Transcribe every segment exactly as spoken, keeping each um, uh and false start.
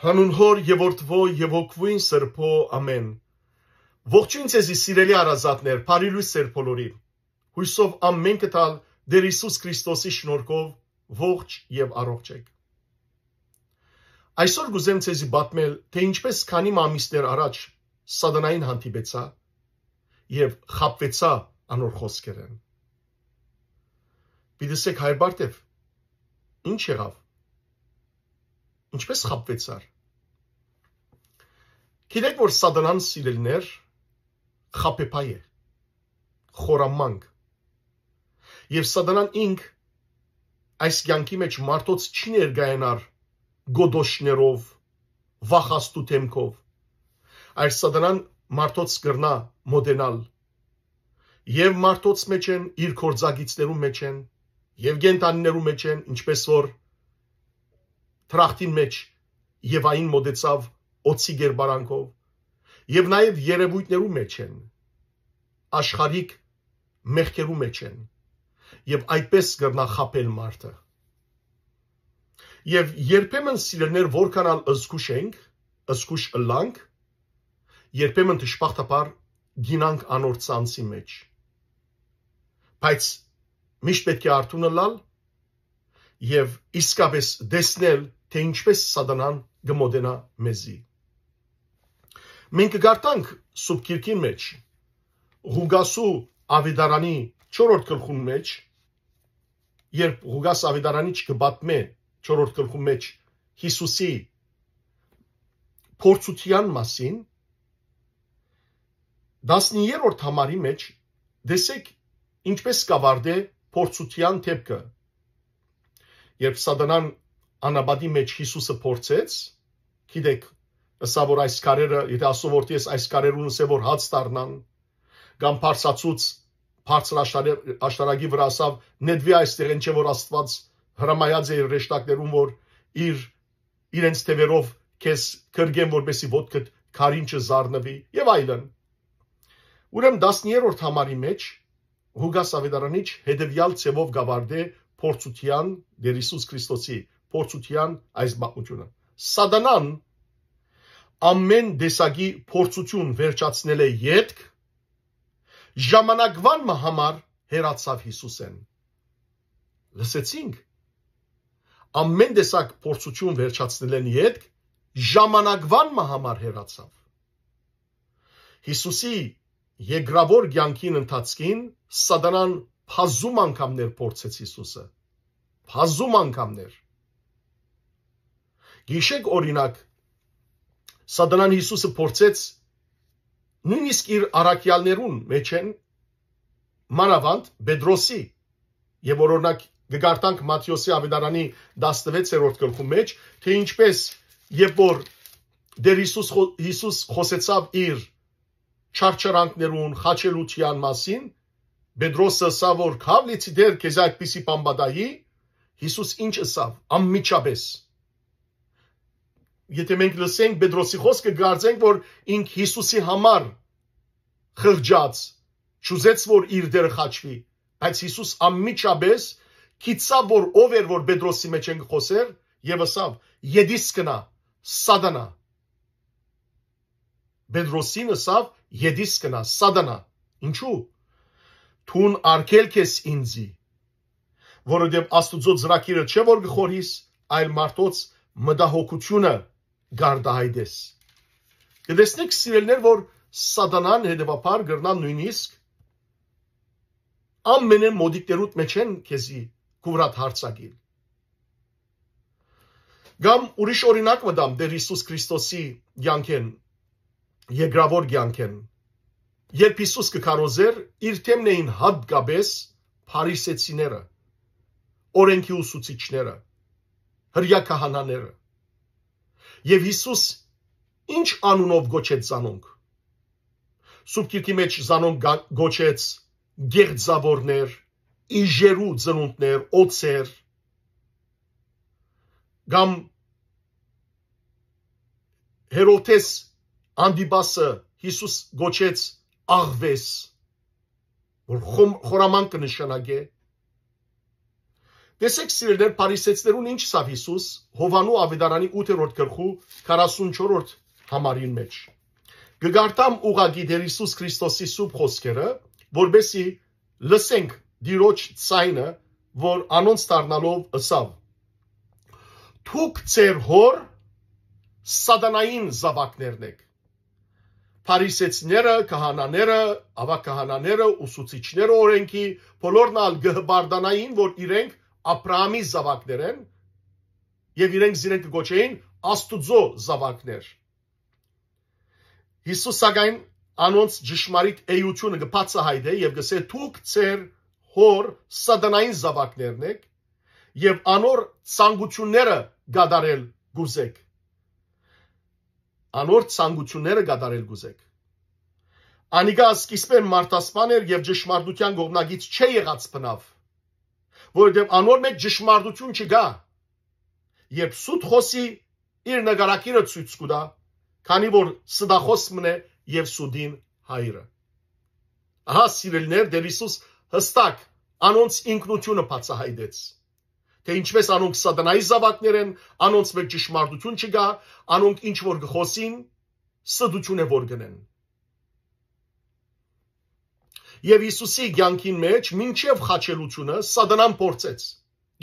Հանուն Հօր եւ Որդուոյ եւ Հոգւոյն Սրբոյ, ամէն։ Ողջոյն ձեզի, սիրելի հարազատներ, բարի լոյս ձեր բոլորին։ Յոյսով ամէնքը տալ Տէր Յիսուս Քրիստոսի շնորհքով ողջ եւ առողջ էք։ Այսօր կ'ուզեմ ձեզի պատմել, թէ ինչպես քանի մը ամիսներ առաջ Սատանային հանդիպեցայ եւ խաբուեցայ անոր խօսքերէն։ Պիտի ըսէք, հայր Բարթեւ, ի՞նչ եղաւ։ Ինչպես խաբուեցար։ Գիտեք, որ Սատանան, սիրելիներ, խաբեբայ է, խորամանկ։ Եւ Սատանան ինք այս կեանքի մէջ մարդոց չի ներկայանար գոդոշներով, վախաստու դէմքով, այլ Սատանան մարդոց կրնայ մօտենալ եւ մարդոց մէջ են, իր գործակիցներու մէջ են, եւ կենդանիներու մէջ են, ինչպես որ դրախտին մէջ Եվային մօտեցաւ օձի կերպարանքով, եւ նաեւ երեւոյթներու մէջ են, աշխարհիկ մեղքերու մէջ են, եւ այդպես կրնայ խաբել մարդը։ Եւ երբեմն, սիրելիներ, որքան ալ զգուշ ենք, զգուշ ըլլանք, երբեմն դժբախտաբար գինանք անոր ցանցի մէջ։ Բայց միշտ պէտք է արթուն ըլլալ եւ իսկապէս տեսնել, թէ ինչպես Սատանան կը մօտենայ մեզի։ Մենք կը կարդանք Սուրբ Գիրքին մէջ, Ղուկասու աւետարանի չորրորդ գլխուն մէջ, երբ Ղուկաս աւետարանիչ կը պատմէ չորրորդ գլխուն մէջ Յիսուսի փորձութեան մասին, տասներորդ համարի մէջ, տեսեք, ինչպես կ'աւարտէ փորձութեան դէպքը։ Երբ Սատանան անապատի մէջ Յիսուսը փորձեց, գիտեք, ըսաւ, որ այս քարերը, եթէ ասով որ ես այս քարերուն ըսեմ, որ հաց դառնան, կամ բարձացուց բարձր աշտարը-, աշտարակի վրայ, ըսաւ, «Նետուի այստեղէն, չէ՞ որ Աստուած հրամայած է իր հրեշտակներուն, որ իր, իրենց թեւերով քեզ կրկեն, որպեսզի ոտքդ քարին չզառնուի», եւ այլն։ Ուրեմն տասներորդ համարի մէջ Ղուկաս աւետարանիչ հետեւեալ ձեւով կ'աւարտէ փորձութեան, Տէր Յիսուս Քրիստոսի փորձութեան այս պատմութիւնը։ Սատանան ամէն տեսակի փորձութիւն վերջացնելէ ետք, ժամանակուան մը համար հեռացաւ Յիսուսէն։ Լսեցինք, ամէն տեսակ փորձութիւն վերջացնելէն ետք, ժամանակուան մը համար հեռացաւ։ Յիսուսի երկրաւոր կեանքին ընթացքին Սատանան բազում անգամներ փորձեց Յիսուսը։ Բազում անգամներ։ Գիշեք, օրինակ, Սատանան Յիսուսը փորձեց նոյնիսկ իր առաքեալներուն մէջէն, մանաւանդ Պետրոսի, եւ որ, օրինակ, կը կարդանք Մատթէոսի աւետարանի տասնվեցերորդ գլխու մէջ, թէ ինչպես, երբ որ Տէր Յիսուս խո-, Յիսուս խօսեցաւ իր չարչարանքներուն, խաչելութեան մասին, Պետրոսը ըսաւ, որ «Քաւ լիցի, Տէր, քեզի այդպիսի բան պատահի»։ Յիսուս ինչ ըսաւ, անմիջապէս։ Եթէ մենք լսենք Պետրոսի խօսքը, կկարծենք, որ ինք Յիսուսի համար խղճաց, չուզեց, որ իր դերը խաչուի, բայց Յիսուս անմիջապէս գիտցաւ, որ ով էր, որ Պետրոսի մէջէն կը խօսէր, եւ ըսաւ. «Ետիս գնա, Սատանա»։ Պետրոսին ըսաւ. «Ետիս գնա, Սատանա»։ Ինչու՞։ «Դուն արգելք ես ինծի, որովհետեւ Աստուծոյ ծրագիրը չէ, որ կը խորհիս, այլ մարդոց մտահոգութիւնը կարտահայտես»։ Կը տեսնեք, սիրելիներ, որ Սատանան հետեւաբար կրնայ նոյնիսկ ամենէն մօտիկներուդ մէջէն քեզի քուվրատ հարցակիլ։ Կամ ուրիշ օրինակ մը տամ Տէր Յիսուս Քրիստոսի կեանքէն, երկրաւոր կեանքէն, երբ Յիսուս կը քարոզէր, իր թեմն էին յատկապէս փարիսեցիները, օրէնքի ուսուցիչները, հրեա քահանաները։ Եւ Յիսուս ինչ անունով կոչեց զանոնք։ Սուրբ Գիրքի մէջ զանոնք գա-, կոչեց գեղձաւորներ, իժերու ծնունդներ, օձեր, կամ Հերովդէս Անտիպասը Յիսուս կոչեց աղվես, որ խոմ-, խորամանկ կը նշանակէ։ Տեսեք, սիրելիներ, Փարիսեցիներուն ինչ ըսաւ Յիսուս Յովհաննու աւետարանի ութերորդ գլխու քառասունչորդ համարին մէջ։ Կը կարդամ ուղղակի Տէր Յիսուս Քրիստոսի սուրբ խօսքերը, որպէսզի լսենք Տիրոջ ձայնը, որ անոնց դառնալով ըսաւ. «Դուք ձեր հօր սատանային զաւակներն էք»։ Փարիսեցիները, քահանաները, աւագ քահանաները, ուսուցիչները օրէնքի, բոլորն ալ կը հպարտանային, որ իրենք Աբրահամի զաւակներ են, եւ իրենք զիրենք կը կոչէին Աստուծոյ զաւակներ։ Յիսուս, սակայն, անոնց ճշմարիտ էութիւնը կը բացահայտէ եւ կ'ըսէ. «Դուք ձեր հօր սատանային զաւակներն էք եւ անոր ցանկութիւնները կատարել կ'ուզէք»։ Անոր ցանկութիւնները կատարել կ'ուզէք։ Անիկա սկիզբէն մարդասպան էր եւ ճշմարտութեան կողմնակից չէ եղած բնաւ, որովհետեւ անոր մէջ ճշմարտութիւն չկայ։ Երբ սուտ խօսի, իր նկարագիրը ցոյց կու տայ, քանի որ ստախօս մըն է եւ սուտին հայրը։ Ահա, սիրելիներ, Տէր Յիսուս յստակ անոնց ինքնութիւնը բացահայտեց, թէ ինչպէս անոնք սատանայի զաւակներ են, անոնց մէջ ճշմարտութիւն չկայ, անոնք ինչ որ կը խօսին, ստութիւն է որ կ'ընեն։ Եւ Յիսուսի կեանքին մէջ մինչեւ խաչելութիւնը սատանան փորձեց։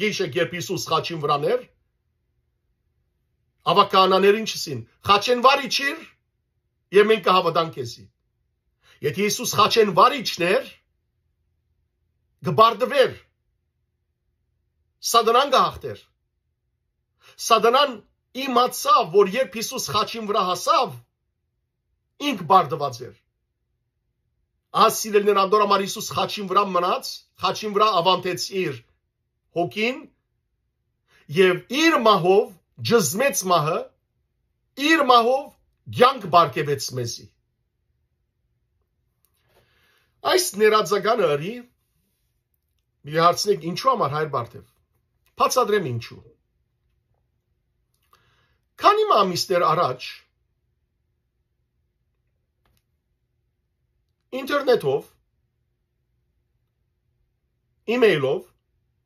Գիշեք, երբ Յիսուս խաչին վրան էր, աւագ քահանաներ ինչ ըսին. «Խաչէն վար իջիր, եւ մենք կը հաւատանք քեզի»։ Եթէ Յիսուս խաչէն վար իջներ, կը բարդուէր, սատանան կը հաղթէր։ Սատանան իմացաւ, որ երբ Յիսուս խաչին վրայ հասաւ, ինք բարդուած էր։ Ահա, սիրելիներ, անդոր համար Յիսուս խաչին վրայ մնաց, խաչին վրայ աւանդեց իր հոգին եւ իր մահով, ճզմեց մահը, իր մահով կեանք պարգեւեց մեզի։ Այս ներածականը ըրի, մի հարցնեք, ինչու համար, հայր Բարթեւ։ Բացատրեմ ինչու։ Քանի մը ամիսներ առաջ ինտերնետով, email-ով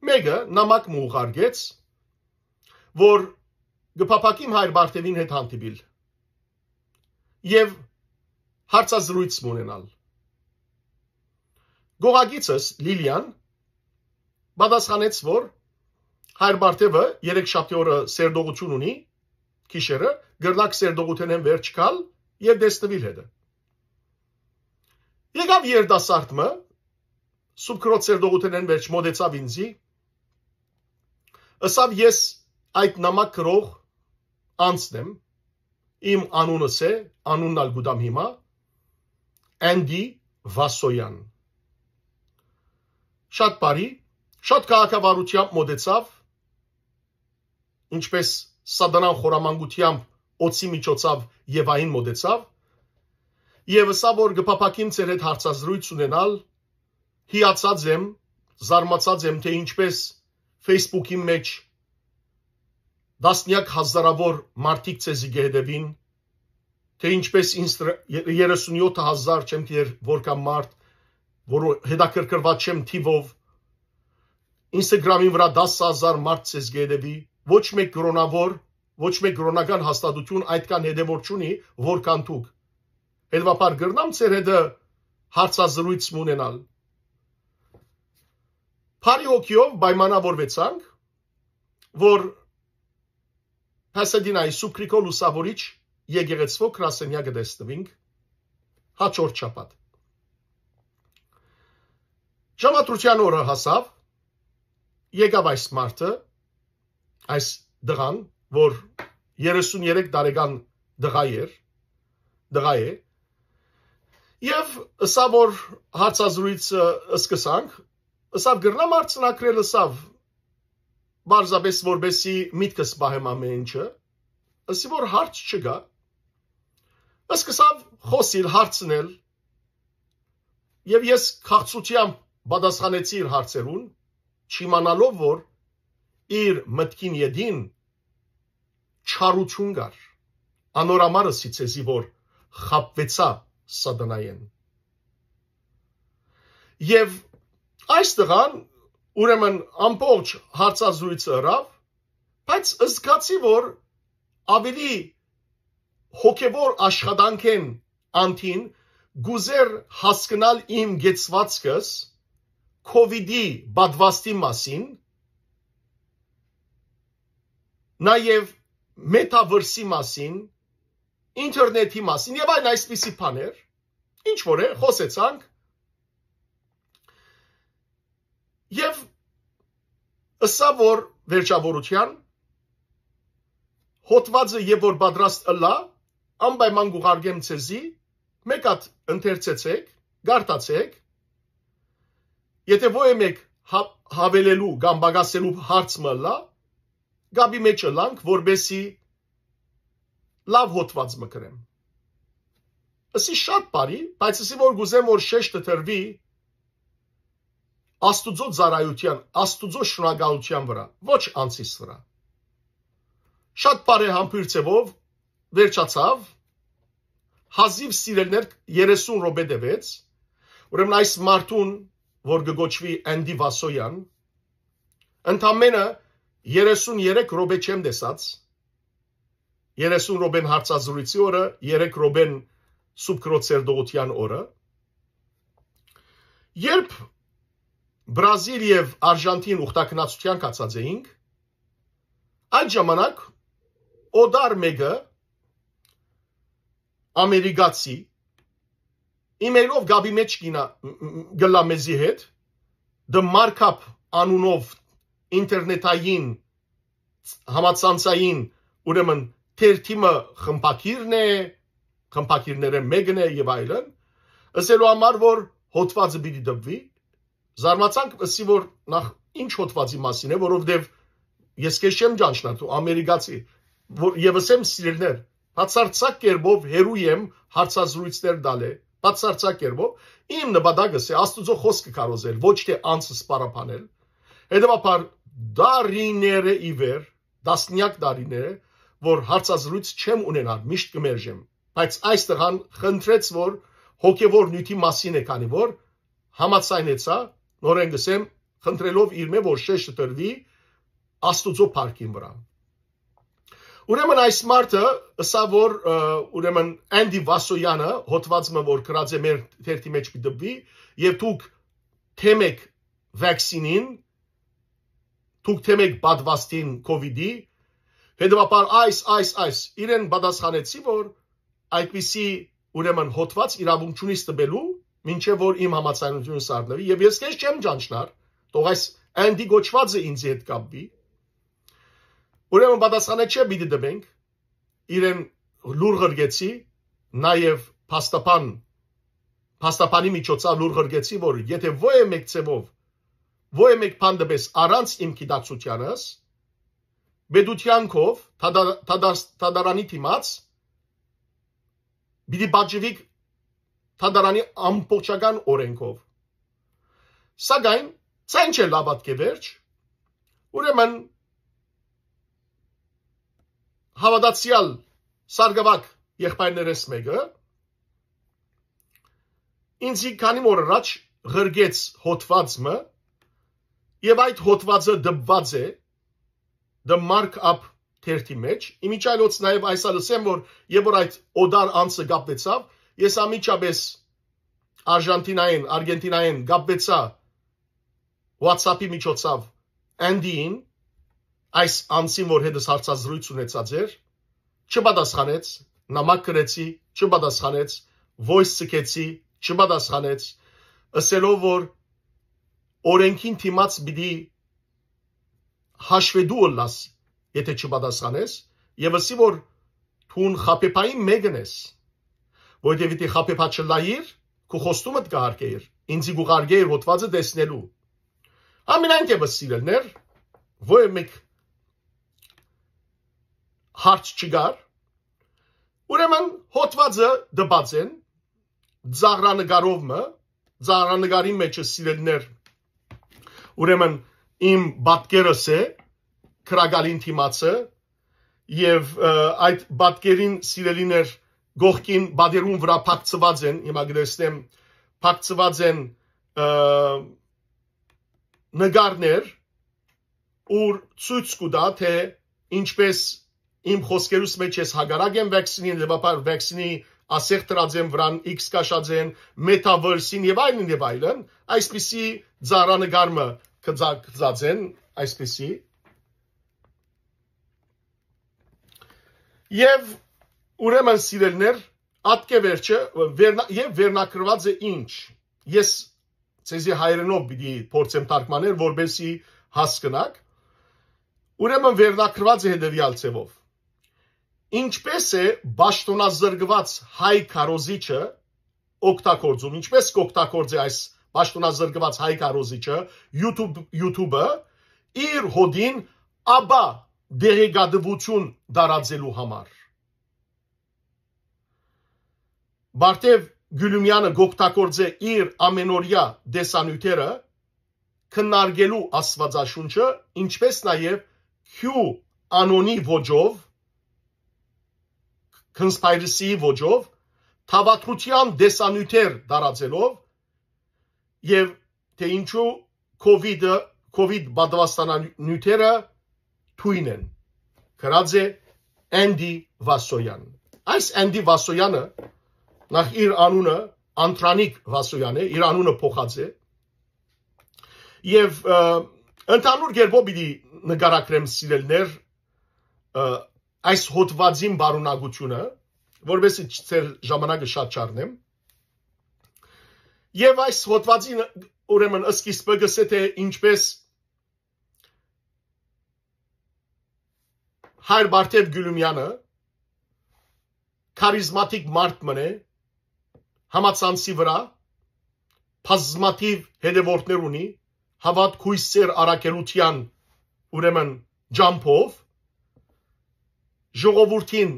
մէկը նամակ մը ուղարկեց, որ կը փափաքիմ հայր Բարթեւին հետ հանդիպիլ եւ հարցազրոյց մը ունենալ։ Գողագիցս Լիլիան պատասխանեց, որ հայր Բարթեւը երեքշաբթի օրը սերտողութիւն ունի, գիշերը, կրնաք սերտողութենէն վերջ գալ եւ տեսնուիլ հետը։ Եկաւ երիտասարդ մը, սուբքրոց սերտողութենէն վերջ մոտեցաւ ինձի, ըսաւ. «Ես այդ նամակ գրող անձն եմ, իմ անունս է, անունն ալ կու տամ հիմա, Andy Vasoyan»։ Շատ բարի, շատ քաղաքավարությամբ մոտեցաւ, ինչպես սատանան խորամանկությամբ օծի միջոցաւ Եվային մոտեցաւ, եւ ըսաւ, որ կը փափաքիմ ձեր հետ հարցազրոյց ունենալ, հիացած եմ, զարմացած եմ, թէ ինչպես Facebook-ի մէջ տասնեակ հազարավոր մարդիկ ձեզի կը հետեւին, թէ ինչպես ինստ-, երեսունյոթ հազար չեմ գիտեր որքան մարդ, որ հետաքրքրված չեմ թիվով, Instagram-ի վրայ տասը հազար մարդ ձեզ կը հետևի, ոչ մէկ կրոնավոր, ոչ մէկ կրոնական հաստատութիւն այդքան հետեւոր չունի, որքան դուք։ Հետեւաբար կրնամ ձեր հետը հարցազրոյց մը ունենալ։ Բարի հոգիով պայմանավորուեցանք, որ Փասեդինայի Սուբգրիգոր Լուսավորիչ եկեղեցւոյ գրասենյակը տեսնուինք հաջորդ շաբաթ։ Ժամադրութեան օրը հասաւ, եկաւ այս մարդը, այս տղան, որ երեսուն երեք տարեկան տղայ էր, տղայ է, եւ ըսաւ, որ հարցազրոյցը սկսանք, ըսաւ, կրնամ արձանագրել, ըսաւ, պարզապէս որպեսի միտքս պահեմ ամէն ինչը, ըսի, որ հարց չկայ, սկսաւ խօսիլ, հարցնել, եւ ես քաղցրութեամբ պատասխանեցի իր հարցերուն, չիմանալով, որ իր մտքին ետին չարութիւն կար, անոր համար ըսի ձեզի, որ խաբուեցայ սատանայէն։ Եւ այս տղան Ուրեմն ամբողջ հարցազրույցը ըրաւ, բայց զգացի, որ ավելի հոգեվոր աշխատանքէն անդին կ'ուզէր հասկնալ իմ կեցուածքս COVID-ի պատվաստի մասին, նաեւ մետավերսի մասին, ինթերնեթի մասին եւ այլն այսպիսի բաներ, ինչ որ է, խօսեցանք եւ ըսա, որ վերջավորութեան հոդվածը եւ որ պատրաստ ըլլայ, անպայման կ'ուղարկեմ ձեզի, մէկ հատ ընթերցեցէք, կարդացէք, եթե ոյ մէկ հա-, հավելելու կամ պակասելու հարց մը ըլլայ, կապի մէջ ըլլանք, որպեսզի լաւ հոդված մը գրեմ։ Ըսի շատ բարի, բայց ըսի որ կ'ուզեմ որ շեշտը դրուի Աստուծոյ ծառայութեան, Աստուծոյ շնորհակալութեան վրայ, ոչ անձիս վրայ։ Շատ բարեհամբույր ձեւով վերջացաւ, հազիւ սիրելիներ երեսուն րոպէ տեւեց, ուրեմն այս մարդուն, որ կը կոչուի Անդի Վասոյան, ընդամենը երեսուն երեք րոպէ չեմ տեսած, երեսուն րոպեն հարցազրույցի օրը, երեք րոպեն Սուրբ Քրոց Սերտողութեան օրը։ Երբ Բրազիլ եւ Արժանթին ուխտագնացութեան գացած էինք, այդ ժամանակ օտար մէկը ամերիկացի email-ով կապի մէջ կինա, մ-, մ-, գլա մեզի հետ, The Markup անունով ինտերնետային համացանցային, ուրեմն թերթի մը խմբագիրն է, խմբագիրներէն մէկն է եւ այլն, ըսելու համար որ հոդվածը պիտի տպուի, զարմացանք, ըսի որ նախ ինչ հոդվածի մասին է, որովհետեւ ես քեզ չեմ ճանչնար, դու ամերիկացի, որ եւս եմ սիրելիներ, բացարձակ կերպով հերու եմ հարցազրույցներ տալը, բացարձակ կերպով, իմ նպատակս է Աստուծոյ խօսքը քարոզել, ոչ թե անձս սպառապանել։ Հետեւաբար դարիներ է ի վեր, տասնյակ դարիներ է, որ հարցազրույց չեմ ունենար, միշտ կը մերժեմ, բայց այս տղան խնդրեց որ հոգեվոր նիւթի մասին է, քանի որ համաձայնեցայ, նորէն կ'ըսեմ, խնդրելով իրմէ որ շեշտը դրուի Աստուծոյ փառքին վրայ։ Ուրեմն այս մարդը ըսաւ որ, ը, ուրեմն Անդի Վասոյանը հոդված մը որ գրած է մեր թերթի մէջ պիտի տպուի, եւ դուք թեմեք վաքսինին, դուք թեմեք պատվաստին COVID-ի, հետեւաբար այս, այս, այս, իրեն պատասխանեցի որ այդպիսի, ուրեմն, հոդված իրավունք չունիս տպելու, մինչեւ որ իմ համաձայնությունս առնուի, եւ ես քեզ չեմ ճանչնար, թող այս Անդի կոչվածը ինձի հետ կապուի։ Ուրեմն պատասխանը չէ պիտի տպենք, իրեն լուր ղրկեցի, նաեւ փաստաբան, փաստաբանի միջոցով լուր ղրկեցի որ եթե ոյ մէկ ձեւով, ոյ մէկ բան տպես առանց իմ գիտակցութեանս, պետութեան քով, թադա-, թադաս-, թադարանի դիմաց, պիտի պատժուիք թադարանի ամբողջական օրենքով։ Սակայն սա ինչ է լաւատկե վերջ, ուրեմն, հաւատացեալ Սարգսակ եղբայրներէս մէկը ինձի քանի օր առաջ ղրկեց հոդված մը, եւ այդ հոդվածը դպված է The Markup թերթի մէջ։ Իմիջիայլոց նաեւ այս ալ ըսեմ որ եւ որ այդ օտար անձը կապվեցաւ, ես անմիջապես Արժանթինայէն, Արգենտինայէն կապվեցայ WhatsApp-ի միջոցով Անդիին, այս անձին որ հետս հարցազրույց ունեցած էր, չպատասխանեց, նամակ գրեցի, չպատասխանեց, voice սկեցի, չպատասխանեց, ըսելով որ օրենքին դիմաց պիտի հաշվետու ըլլաս, եթե չպատասխանես, եւ ըսի որ դուն խաբեբային մէկն ես, որովհետեւ եթե խաբեբա չլայիր, քու խոստումդ կհարգեիր, ինձի կուղարկեիր հոդվածը տեսնելու։ Ամենայն դեպս սիրելիներ, ոյ մէկ հարց չկար, ուրեմն հոդվածը դպած են, ծաղրանկարով մը, ծաղրանկարին մէջը սիրելիներ, ուրեմն իմ պատկերս է, քրագալին դիմացը, եւ, ը, այդ պատկերին սիրելիներ կողքին պատերուն վրայ փակցված են, հիմա կտեսնեմ, փակցված են, ը, նկարներ, ուր ցոյց կու տայ, թէ ինչպէս իմ խօսքերուս մէջ ես հակառակ եմ վաքսինին, լեւապար վաքսինի ասեղ դրած եմ վրան, իքս կաշած են, մետավերսին եւ այլն եւ այլն, այսպիսի ծառանկար մը կծա-, կծած են, այսպիսի։ Եւ ուրեմն, սիրելիներ, ատկէ վերջը, վերնա-, եւ վերնագրուած է ինչ։ Ես ձեզի հայերէնով պիտի փորձեմ թարգմանել, որպեսզի հասկնաք։ Ուրեմն վերնագրուած է հետեւեալ ձեւով. «Ինչպէս է պաշտոնազրկուած հայ քարոզիչը օգտագործում, ինչպէս կօգտագործէ այս պաշտոնազրկուած հայ քարոզիչը YouTube, YouTube-ը իր հօտին, ապա տեղեկատվություն տարածելու համար»։ Բարթեւ Գիւլումեանը կօգտագործէ իր ամենօրեայ տեսանիւթերը քննարկելու Աստուածաշունչը, ինչպէս նաեւ Q-անոնի ոճով, conspiracy-ի ոճով, թաւատրութեան տեսանիւթեր տարածելով եւ թէ ինչու COVID-ը, COVID պատվաստանանիւթերը թոյն են, գրած է Andy Vasoyan։ Այս Andy Vasoyan-ը, նախ իր անունը Անդրանիկ Վասոյան է, իր անունը փոխած է, եւ, ը, ընդհանուր կերպով պիտի նկարագրեմ, սիրելիներ, ը, այս հոդուածին պարունակությունը, որպեսզի չ-, ձեր ժամանակը շատ չառնեմ։ Եւ այս հոդուածին, ուրեմն, սկիզբը կ'ըսէ, թէ ինչպէս հայր Բարթեւ Գիւլումեանը քարիզմատիկ մարդ մըն է, համացանցի վրայ բազմաթիւ հետեւորդներ ունի, հաւատք, յոյսեր առաքելութեան, ուրեմն, ճամբով, ժողովուրդին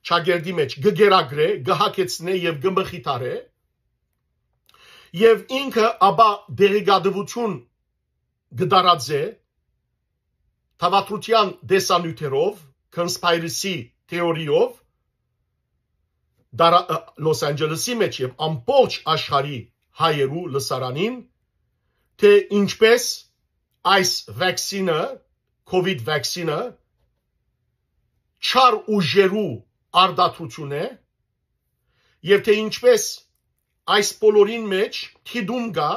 ճակերտի մէջ կը կերակրէ, կը հագեցնէ եւ կը մխիթարէ, եւ ինքը ապա տեղեկատվություն կը տարածէ թաւատրութեան տեսանիւթերով, conspiracy theory-ով, դարա-, ը, Լոս Անջելեսի մէջ եւ ամբողջ աշխարհի հայերու լսարանին, թէ ինչպէս այս վաքսինը, COVID վաքսինը, չար ուժերու արտադրութիւն է, եւ թէ ինչպէս այս բոլորին մէջ դիտում կայ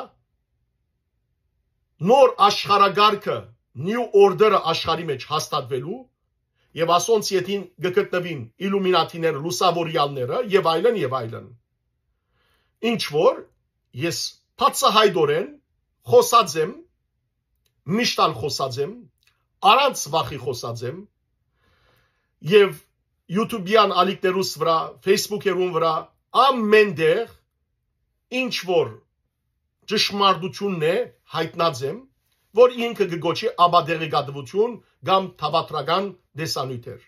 նոր աշխարհակարգը, New Order-ը աշխարհի մէջ հաստատուելու, եւ ասոնց ետին կը գտնուին իլումինատիները, լուսաւորեալները եւ այլն եւ այլն։ Ինչ որ ես բացահայտօրէն խօսած եմ, միշտ ալ խօսած եմ, առանց վախի խօսած եմ, եւ YouTube-յան ալիքներուս վրայ, Facebook-երուն վրայ, ամէն տեղ ինչ որ ճշմարտությունն է, յայտնած եմ, որ ինքը կը կոչի ապատեղեկատվություն կամ թաւատրական տեսանիւթեր։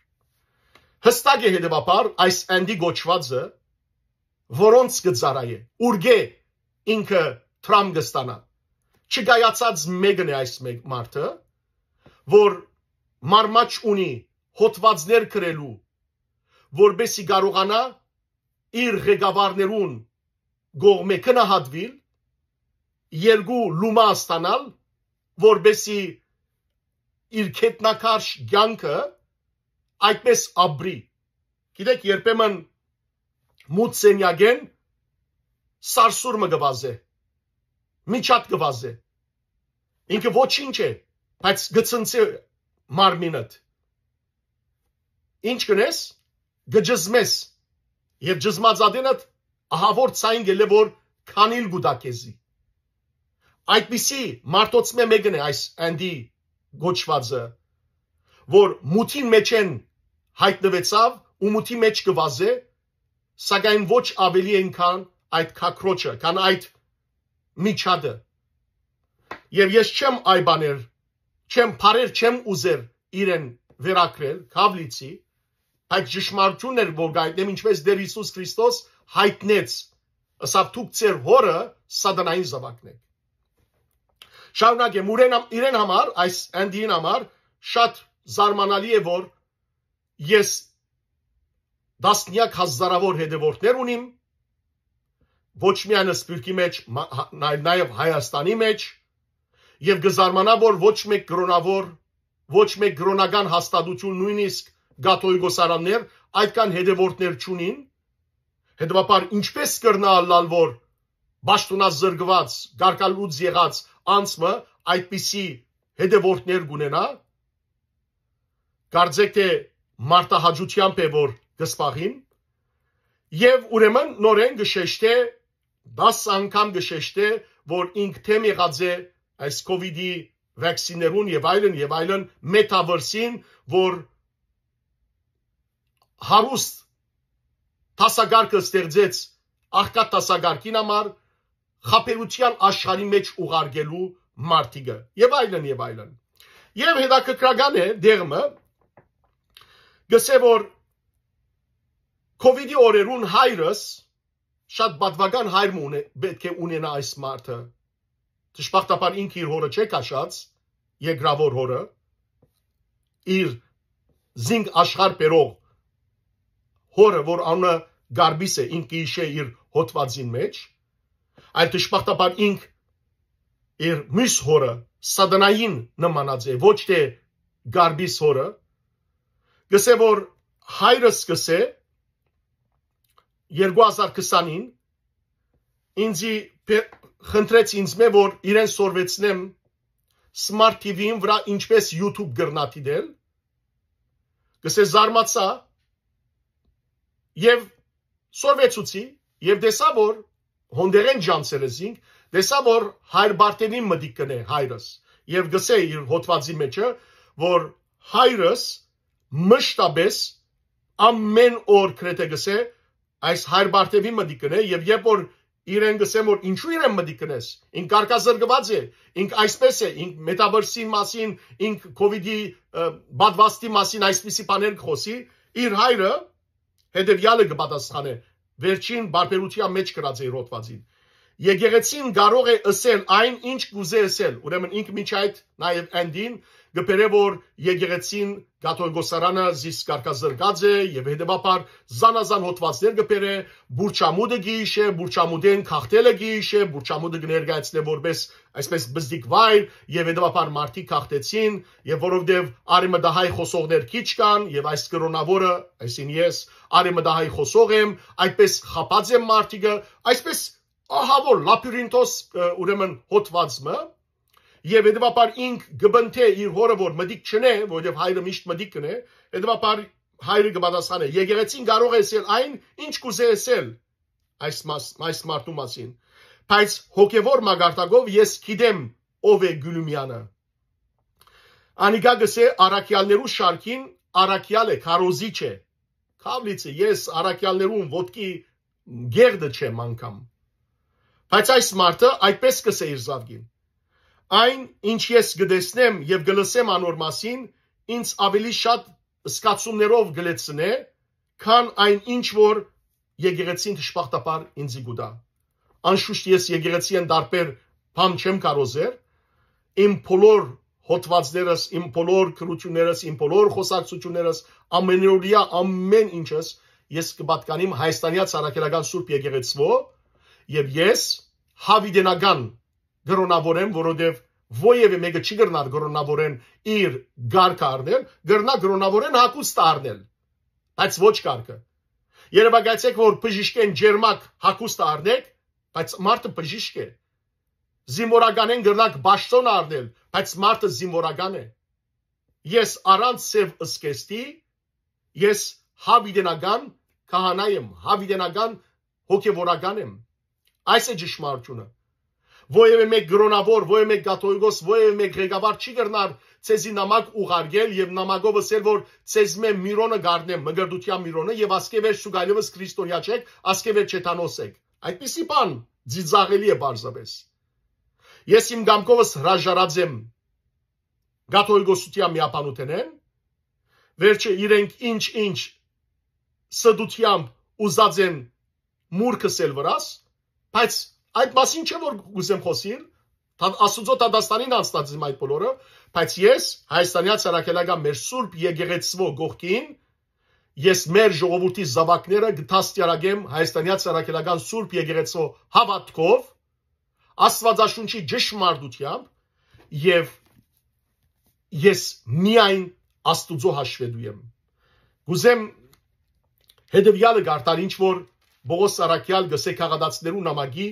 Յստակ է, հետեւաբար, այս Andy կոչուածը որոնց կը ծառայէ, ուրկէ ինքը Թրամփ կը ստանայ։ Չկայացած մէկն է այս մէկ մարդը, որ մարմաճ ունի հոդվածներ գրելու, որպեսզի կարողանայ իր ղեկավարներուն կողմէ գնահատուիլ, երկու լումայ ստանալ, որպեսզի իր գետնաքարշ կեանքը այդպես ապրի։ Գիտեք, երբեմն մութ սենյակէն սարսուռ մը կը վազէ, միջատ կը վազէ։ Ինքը ոչինչ է, բայց կը ցնցի մարմինդ։ Ինչ կ'ընես, կը ճզմես, եւ ճզմած ատենդ ահաւոր ձայն կ'ելլէ, որ քանիլ կու տայ քեզի։ Այդպիսի մարդոցմէ մէկն է այս Andy կոչուածը, որ մութին մէջէն յայտնուեցաւ ու մութի մէջ կը վազէ, սակայն ոչ ավելի են քան այդ քակրոչը, քան այդ միջատը։ Եւ ես չեմ այ բաներ, չեմ բառեր, չեմ ուզեր իրեն վերագրել, քաւլիցի, բայց ճշմարտությունն էր, որ կայտնեմ, ինչպես Տեր Յիսուս Քրիստոս յայտնեց, ըսաւ. «Դուք ձեր հօրը սատանային զաւակն եք»։ Շարունակեմ, ուրեն համ-, իրեն համար, այս Andy-ին համար շատ զարմանալի է, որ ես տասնեակ հազարավոր հետևորդներ ունիմ, ոչ միայն Սփիւռքի մէջ, մա-, հա-, նայ-, նաեւ Հայաստանի մէջ, Եւ կը զարմանայ, որ ոչ մէկ կրօնաւոր, ոչ մէկ կրօնական հաստատութիւն, նոյնիսկ կաթողիկոսարաններ, այդքան հետեւորդներ չունին, հետեւաբար ինչպէ՞ս կրնայ ըլլալ, որ պաշտօնազրկուած, կարկալուծ եղած անձ մը այդպիսի հետեւորդներ կունենայ, կարծէք թէ մարդահաճութեամբ է, որ կը սպաղին, եւ ուրեմն նորէն կը շեշտէ, դաս անգամ կը շեշտէ, որ ինք դէմ եղած է այս COVID-ի վաքսիներուն եւ այլն, եւ այլն, մետավերսին, որ հարուստ դասակարգը ստեղծեց աղքատ դասակարգին համար, խաբերութեան աշխարհի մէջ ուղարկելու մարդիկը, եւ այլն, եւ այլն։ Եւ հետաքրքրական է, դեղմը գսե, որ COVID-ի օրերուն հայրս, շատ պատվական հայր մը ունե-, պէտք է ունենայ այս մարդը։ Դժբախտաբար ինք իր հորը չէ քաշած, երկրաւոր հորը, իր զինք աշխարհ բերող հորը, որ անունը Գարբիս է, ինք կը յիշէ իր հոդվածին մէջ, այլ դժբախտաբար ինք իր մյուս հորը, սատանային նմանած է, ոչ թէ Գարբիս հորը, գսե, որ հայրս գսե, երկու հազար քսանին ինձի պէ-, խնդրեց ինձ մէ, որ իրեն սորվեցնեմ Smart TV-ին վրայ ինչպէս YouTube կրնայ դիտել, գսե, զարմացայ եւ սորվեցուցի եւ տեսայ, որ հոնդերեն ջանցեր է զինք, տեսայ, որ հայր Բարթեվին մտիկ կնէ հայրս, եւ գսե իր հոդվածի մէջը, որ հայրս մշտապէս ամեն օր գրեթէ գսե, այս հայր Բարթեվին մտիկ կնէ, եւ երբ որ իրեն գսեմ, որ ինչու իրեն մտիկ կնես, ինք կարկազրկված է, ինք այսպես է, ինք մետավերսին մասին, ինք COVID-ի, ը, պատվաստի մասին այսպիսի բաներ կխոսի, իր հայրը հետեւեալը կը պատասխանէ, վերջին բարբերութեան մէջ գրած է իր հոդվածին։ Եկեղեցին կարող է ըսել այն, ինչ կուզէ ըսել, ուրեմն ինք մինչ այդ նաեւ Անդին կը բերէ, որ եկեղեցին կաթողիկոսարանը զիս կարկազրկած է եւ հետեւաբար զանազան հոդվածներ կը բերէ, Բուրչամուտը կը յիշէ, Բուրչամուտէն գաղթելը կը յիշէ, Բուրչամուտը կը ներկայացնէ որպես այսպես բզդիկ վայր, եւ հետեւաբար մարդիկ գաղթեցին, եւ որովհետեւ արեմտահայ խոսողներ քիչ կան, եւ այս կրոնաւորը, այսին ես, արեմտահայ խոսող եմ, այդպես խաբած եմ մարդիկը, այսպես ահա որ լաբիրինթոս, ը, ուրեմն հոդված մը, եւ հետեւաբար ինք կը պնդէ իր հորը, որ մտիկ չնէ, որովհետեւ հայրը միշտ մտիկ կնէ, հետեւաբար հայրը կը պատասխանէ, եկեղեցին կարող է ըսել այն, ինչ կուզէ ըսել այս մաս-, այս մարդու մասին, բայց հոգեվոր մակարդակով ես գիտեմ ով է Գուլումյանը։ Անիկա գսե առաքեալներու շարքին առաքեալ է, քարոզիչ է։ Քավլիցը, ես առաքեալներուն ոտքի գերդը չեմ անգամ։ Բայց այս մարդը այդպես կսե իր զավգին. «Այն, ինչ ես կտեսնեմ եւ կլսեմ անոր մասին, ինձ ավելի շատ զգացումներով կլեցնէ, քան այն, ինչ որ եկեղեցին դժբախտաբար ինձի կու տայ։ Անշուշտ ես եկեղեցիէն տարբեր բան չեմ կարոզեր, իմ բոլոր հոդվածներս, իմ բոլոր գրություններս, իմ բոլոր խոսակցություններս, ամենօրյա ամեն ինչս ես կը պատկանիմ Հայաստանյաց Առաքելական Սուրբ Եկեղեցւոյ, եւ ես հավիտենական կրոնաւորեմ, որովհետեւ որեւէ մէկը չի կրնար կրոնաւորեն իր գարկը առնել, կրնայ կրոնաւորեն հագուստը առնել, բայց ոչ կարգը։ Երեւակայեցէք, որ բժիշկէն ջերմակ հագուստը առնէք, բայց մարդը բժիշկ է։ Զինվորականէն կրնաք պաշտոնը առնել, բայց մարդը զինվորական է։ Ես առանց սեւ զգեստի, ես հավիտենական քահանայ եմ, հավիտենական հոգեվորական եմ։ Այս է ճշմարտությունը։ Որևէ մէկ կրոնաւոր, որևէ մէկ կաթողիկոս, որևէ մէկ ղեկավար չի կրնար ձեզի նամակ ուղարկել եւ նամակով ըսել, որ ձեզմէ միրոնը կ'առնեմ, մկրտութեան միրոնը, եւ ասկէ վեր սուգայլովս քրիստոնեայ չեք, ասկէ վեր չեթանոս եք։ Այդպիսի բան ծիծաղելի է պարզապէս։ Ես իմ կամքովս հրաժարած եմ կաթողիկոսութեան միաբանութենէն, վերջը իրենք ինչ-ինչ ստությամբ ուզած են մուրքս էլ վրաս, բայց այդ մասին չէ որ կուզեմ խոսիլ, Աստուծոյ դատաստանին անցնած եմ այդ բոլորը, բայց ես Հայաստանեայ Առաքելական մեր Սուրբ Եկեղեցւոյ կողքին, ես մեր ժողովուրդի զաւակները կը դաստիարակեմ Հայաստանեայ Առաքելական Սուրբ Եկեղեցւոյ հաւատքով, Աստուածաշունչի ճշմարտութեամբ, եւ ես միայն Աստուծոյ հաշուետու եմ։ Կ'ուզեմ հետեւեալը կարդալ, ինչ որ Պողոս Առաքեալ կ'ըսէ Գաղատացիներու նամակի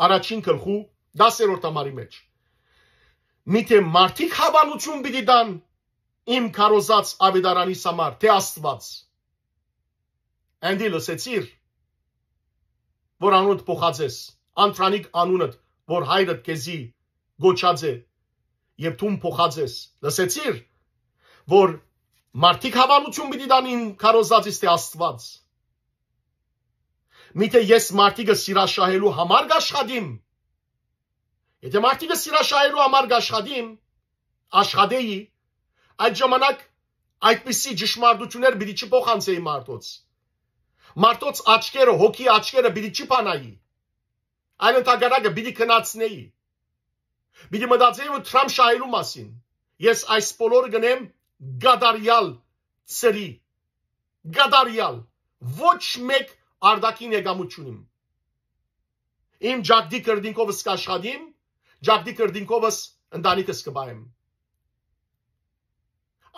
առաջին գլխու դասերորդ համարի մէջ։ Միթէ մարդիկ հաւանութիւն պիտի տան իմ քարոզած աւետարանիս համար, թէ Աստուած։ Անդի լսեցիր, որ անունդ փոխած ես, անդրանիկ անունդ, որ հայրդ քեզի կոչած է, եւ դուն փոխած ես։ Լսեցիր, որ մարդիկ հաւանութիւն պիտի տան իմ քարոզածիս, թէ Աստուած։ Միթէ ես մարդիկը սիրաշահելու համար կ'աշխատիմ։ Եթե մարդիկը սիրաշահելու համար կ'աշխատիմ, աշխատէի, այդ ժամանակ այդպիսի ճշմարտություններ պիտի չփոխանցէի մարդոց։ Մարդոց աչքերը, հոգի աչքերը պիտի չփանայի, այլ ընդհակառակը պիտի քնացնէի։ Պիտի մտածեի ու Թրամփ շահելու մասին։ Ես այս բոլորը կ'ընեմ կատարեալ ծրի, կատարեալ, ոչ մեկ արտաքին եկամուտ չունիմ։ Իմ ճակտի կրտինքովս կ'աշխատիմ, ճակտի կրտինքովս ընտանիքս կը պահեմ։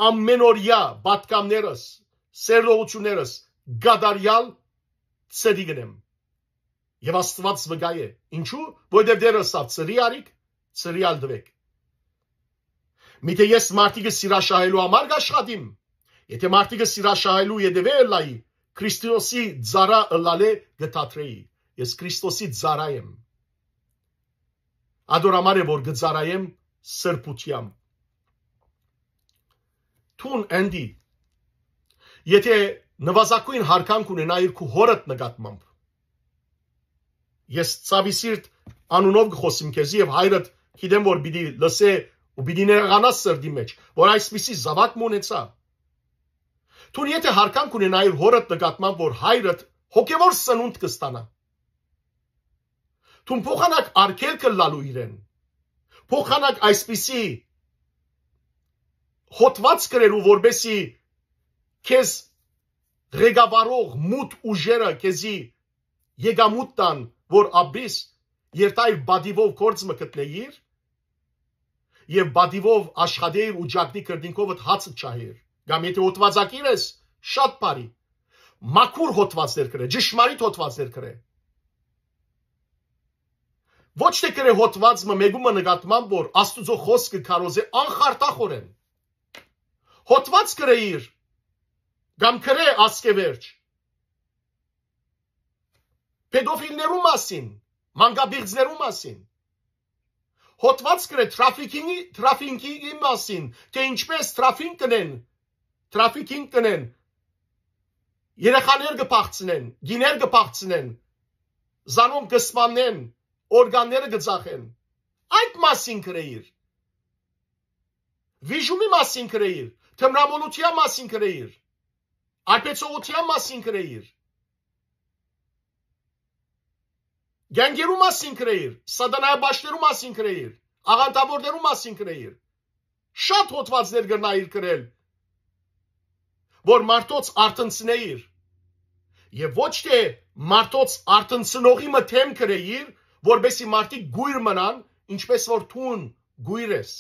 Ամենօրեայ պատգամներս, սերտողություններս կատարեալ ծրի կ'ընեմ։ Եւ Աստուած վկայ է։ Ինչու՞, որովհետեւ Տէրը ըսաւ. «Ծրի առիք, ծրի ալ տուէք»։ Միթէ ես մարդիկը սիրաշահելու համար կ'աշխատիմ։ Եթե մարդիկը սիրաշահելու ետեւէ ըլլայի, Քրիստոսի ծառայ ըլլալէ կը դադրէի։ Ես Քրիստոսի ծառայ եմ։ Ատոր համար է, որ կը ծառայեմ սրբութեամբ։ Դուն, Անդի, եթե նուազագոյն յարգանք ունենայիր քու հօրդ նկատմամբ, ես ցաւի սիրտ անունով կը խօսիմ քեզի, եւ հայրդ գիտեմ, որ պիտի լսէ ու պիտի նեղանաս սրտի մէջ, որ այսպիսի զաւակ մը ունեցայ։ Դուն եթե յարգանք ունենայիր հօրդ նկատմամբ, որ հայրդ հոգեւոր սնունդ կը ստանայ, դուն փոխանակ արգելքը լալու իրեն, փոխանակ այսպիսի հոտված գրելու, որպեսի քեզ ղեկավարող մութ ուժերը քեզի եկամուտ տան, որ ապրիս, երթայր պատիվով գործ մը գտնեիր, եւ պատիվով աշխատեիր ու ճակտի կրտինքովդ հացը չահեր։ Կամ եթե հոտվածակիր ես, շատ բարի, մաքուր հոտվածներ գրե, ճշմարիտ հոտվածներ գրե։ Ոչ թե գրե հոտված մը մեկու մը նկատմամբ, որ Աստուծոյ խօսքը քարոզէ անխարդախորեն։ Հոտված գրեիր, կամ գրե ասկեվերջ, պեդոֆիլներու մասին, մանկապիղծներու մասին։ Հոտված գրե թրաֆիքինգի, թրաֆիքինգի մասին, թէ ինչպես թրաֆինկ կ'ընեն, թրաֆիքինգ կ'ընեն, երեխաներ կը փախցնեն, գիներ կը փախցնեն, զանոնք կը սպաննեն, օրգանները կը ծախեն։ Այդ մասին գրեիր։ Վիժումի մասին գրեիր, թմրամոլութեան մասին գրեիր, արբեցողութեան մասին գրեիր, գանգերու մասին գրեիր, սատանայապաշտներու մասին գրեիր, աղանդավորներու մասին գրեիր։ Շատ հոտվածներ կրնայիր գրել, որ մարդոց արթնցնեիր, եւ ոչ թե մարդոց արթնցնողի մը դէմ գրեիր, որպեսզի մարդիկ գոյր մնան, ինչպես որ դուն գոյր ես,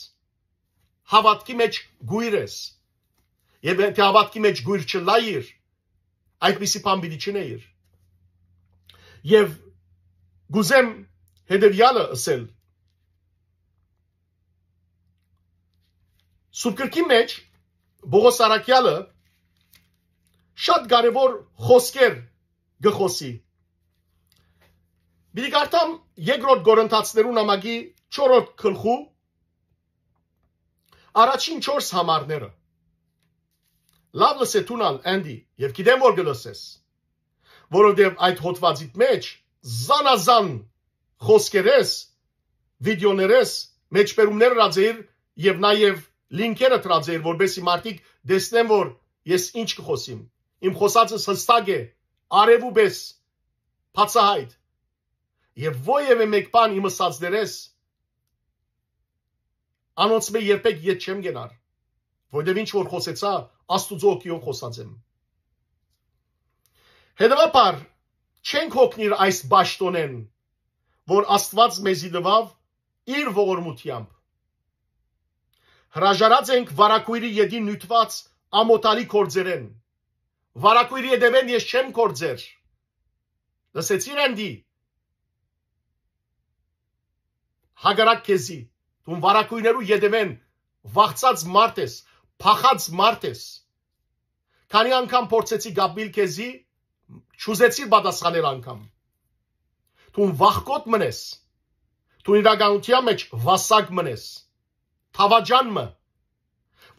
հաւատքի մեջ գոյր ես։ Եւ եթե հաւատքի մեջ գոյր չըլլայիր, այդպիսի բան պիտի չընէիր։ Եւ կ'ուզեմ հետեւեալը ըսել. Սուրբ Գրքի մեջ Պողոս Առաքեալը շատ կարեւոր խօսքեր կը խօսի։ Պիտի կարդամ երկրորդ Կորինթացիներու նամակի չորրորդ գլխու առաջին չորս համարները։ Լաւ լսէ դուն ալ, Անդի, եւ գիտեմ որ կը լսես, որովհետեւ այդ հոտվածիդ մեջ զանազան խօսքերես, վիդեոներես, մեջբերումներ ըրած էիր եւ նաեւ լինքերը դրած էիր, որպեսզի մարդիկ տեսնեն որ ես ինչ կը խօսիմ։ Իմ խօսածս յստակ է, արեւու պէս բացայայտ։ Եւ որեւէ մէկ բան իմ ըսածներէս անոնցմէ երբեք ետ չեմ կենար, որտեւ ինչ որ խօսեցայ, Աստուծոյ հոգիով խօսած եմ։ Հետեւաբար, չենք հոգնիր այս պաշտօնէն, որ Աստուած մեզի տուաւ իր ողորմութեամբ։ Հրաժարած ենք վարագոյրի ետին նիւթուած ամօթալի գործերէն։ Վարագոյրի ետեւէն ես չեմ գործեր։ Լսեցի՞ր, Անդի։ Հակառակ քեզի, դուն վարագոյրներու ետեւէն վախցած մարդ ես, փախած մարդ ես։ Քանի՞ անգամ փորձեցի կապիլ քեզի, չուզեցի պատասխանել անգամ։ Դուն վախկոտ մըն ես։ Դուն իրականութեան մէջ վասակ մըն ես, թաւաճան մը,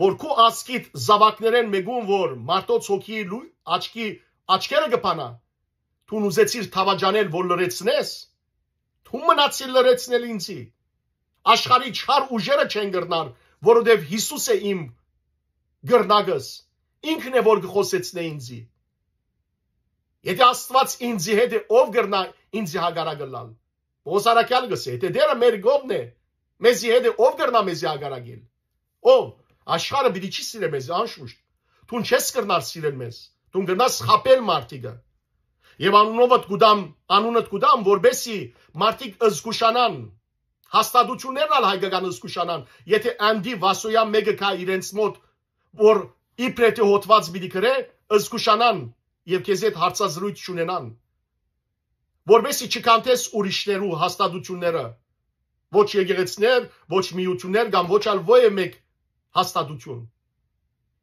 որ քու ազգիդ զաւակներէն մէկուն, որ մարդոց հոգի լու-, աչքի, աչքերը կը բանայ, դուն ուզեցիր թաւաճանել, որ լռեցնես, դու մնացիր լռեցնել ինձի։ Աշխարհի չար ուժերը չեն կրնար, որովհետեւ Յիսուս է իմ կրնակս, ինքն է, որ կը խօսեցնէ ինձի։ Եթէ Աստուած ինձի հետ է, ով կրնայ ինձի հակառակ ըլլալ։ Պողոս առաքեալ կ'ըսէ, եթէ Տէրը մեր կողմն է, մեզի հետ է, ով կրնայ մեզի հակառակել։ Ով, աշխարհը պիտի չի սիրէ մեզի, անշուշտ։ Դուն չես կրնար սիրել մեզ, դուն կրնաս խաբել մարդիկը։ Եւ անունովդ կուտամ, անունդ կուտամ, որպեսի մարդիկ զգուշանան, հաստատութիւններն ալ հայկական զգուշանան, եթէ Անդի Վասոյեան մէկը գայ իրենց մօտ, որ իբրեթի հոդուած պիտի գրէ, զգուշանան եւ քեզի հետ հարցազրոյց չունենան, որպեսի չքանթես ուրիշներու հաստատութիւնները, ոչ եկեղեցիներ, ոչ միութիւններ կամ ոչ ալ ոյ մէկ հաստատութիւն,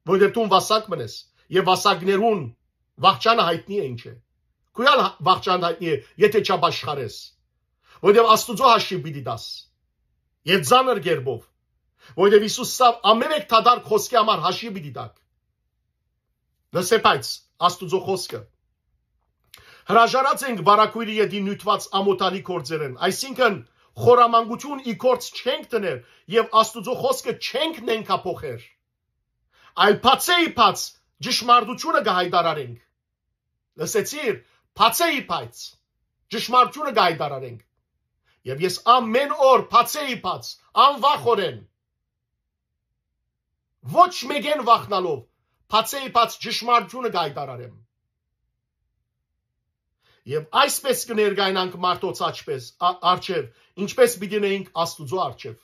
որովհետեւ դուն վասակ մըն ես, եւ վասակներուն վախճանը յայտնի է ինչ է։ Քու ալ վախճանդ յայտնի է, եթէ չապաշխարես, որովհետեւ Աստուծոյ հաշիւ պիտի տաս, եւ ծանր կերպով, որովհետեւ Յիսուս սա ամէն մէկ դատարկ խօսքի համար հաշիւ պիտի տաք։ Լսե, բայց Աստուծոյ խօսքը։ Հրաժարած ենք վարագոյրի ետին նիւթուած ամօթալի գործերէն, այսինքն՝ խորամանկութիւն ի գործ չենք դներ եւ Աստուծոյ խօսքը չենք նենգափոխեր, այլ բացէ ի բաց ճշմարտութիւնը կը յայտարարենք։ Լսեցի՞ր, բացէ ի բաց ճշմարտութիւնը կը յայտարարենք։ Եւ ես ամէն օր բացէ ի բաց, անվախօրէն, ոչ մէկէն վախնալով, բացէ ի բաց ճշմարտութիւնը կը յայտարարեմ։ Եւ այսպես կը ներկայանանք մարդոց աչպես, ա-, առջեւ, ինչպես պիտի նայենք Աստուծոյ առջեւ։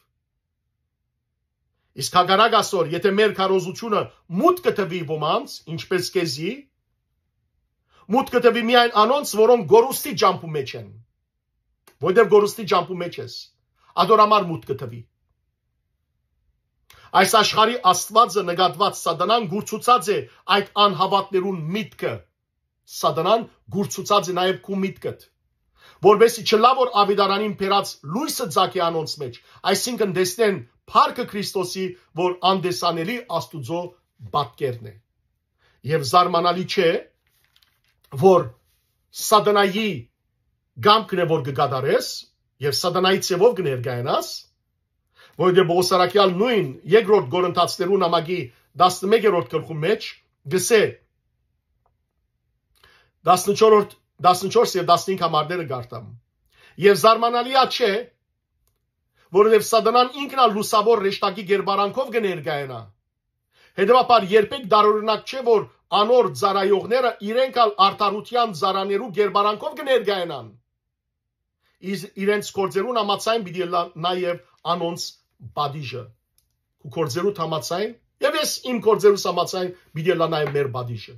Իսկ հակառակ ասոր, եթէ մեր քարոզութիւնը մուտքը տուի ոմանց, ինչպես քեզի, մուտքը տուի միայն անոնց, որոնք գորուստի ճամբու մէջ են, որտեղ գորուստի ճամբու մէջ ես, ադոր համար մուտքը տուի։ Այս աշխարհի Աստուածը նկատուած Սատանան կուրցուցած է այդ անհաւատներուն միտքը։ Սատանան կուրցուցած է նաեւ քու միտքդ, որպեսզի չլա որ աւետարանին բերած լոյսը ծագէ անոնց մէջ, այսինքն՝ տեսնեն փառքը Քրիստոսի, որ անտեսանելի Աստուծոյ պատկերն է։ Եւ զարմանալի չէ, որ Սատանայի կամքն է, որ կը կատարես, եւ Սատանայի ձևով կը ներկայանաս, որովհետեւ Պողոս առաքեալ նոյն երկրորդ Կորինթացիներու նամակի տասնմեկերորդ գլխու մէջ գսէ, տասնչորս, տասնչորս եւ տասնհինգ համարները կարտամ։ Եւ զարմանալի ա չէ, որովհետեւ Սատանան ինքն ալ լուսաւոր հրեշտակի կերպարանքով կը ներկայանայ։ Հետեւաբար երբեք տարօրինակ չէ, որ անոր ծառայողները իրենք ալ արդարութեան ծառաներու կերպարանքով կը ներկայանան։ Իսկ իրենց գործերուն համաձայն պիտի ըլլայ նաեւ անոնց պատիժը։ Քու գործերուդ համաձայն, եւ ես իմ գործերուս համաձայն պիտի ըլլայ նաեւ մեր պատիժը։